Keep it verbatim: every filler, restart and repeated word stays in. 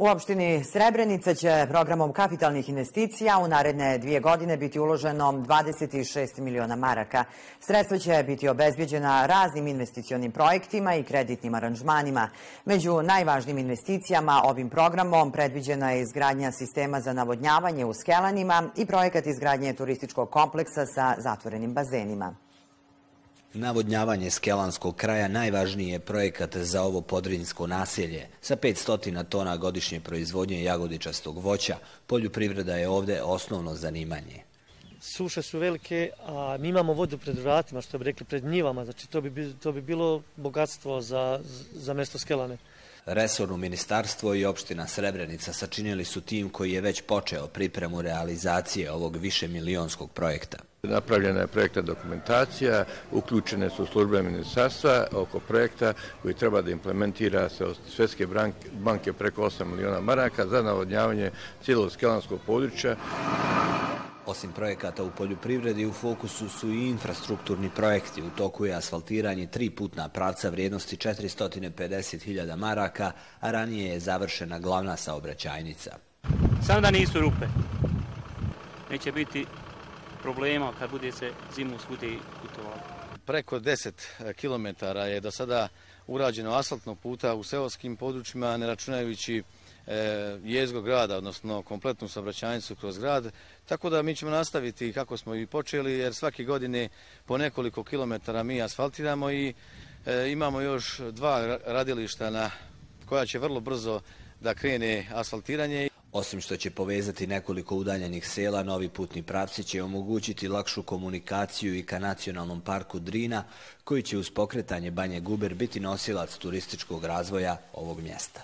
U opštini Srebrenica će programom kapitalnih investicija u naredne dvije godine biti uloženo dvadeset šest miliona maraka. Sredstva će biti obezbeđena raznim investicionim projektima i kreditnim aranžmanima. Među najvažnijim investicijama ovim programom predviđena je izgradnja sistema za navodnjavanje u Skelanima i projekat izgradnje turističkog kompleksa sa zatvorenim bazenima. Navodnjavanje Skelanskog kraja najvažniji je projekat za ovo podrinjsko naselje. Sa petsto tona godišnje proizvodnje jagodičastog voća, poljoprivreda je ovde osnovno zanimanje. Suše su velike, a mi imamo vodu pred vratima, što bi rekli, pred njivama. Znači, to bi, to bi bilo bogatstvo za, za mesto Skelane. Resorno ministarstvo i opština Srebrenica sačinili su tim koji je već počeo pripremu realizacije ovog višemilionskog projekta. Napravljena je projektna dokumentacija, uključene su službe ministarstva oko projekta koji treba da implementira se od Svjetske banke preko osam miliona maraka za navodnjavanje cijelog skelanskog područja. Osim projekata u poljoprivredi, u fokusu su i infrastrukturni projekti. U toku je asfaltiranje tri putna pravca vrijednosti četiristo pedeset hiljada maraka, a ranije je završena glavna saobraćajnica. Samo da nisu rupe. Neće biti problema kad bude se zimu svudi putovalo. Preko deset kilometara je do sada urađeno asfaltnog puta u seoskim područjima, ne računajući jezgro grada, odnosno kompletnu saobraćajnicu kroz grad. Tako da mi ćemo nastaviti kako smo i počeli, jer svake godine po nekoliko kilometara mi asfaltiramo i e, imamo još dva radilišta na koja će vrlo brzo da krene asfaltiranje. Osim što će povezati nekoliko udaljenih sela, novi putni pravci će omogućiti lakšu komunikaciju i ka nacionalnom parku Drina, koji će uz pokretanje Banje Guber biti nosilac turističkog razvoja ovog mjesta.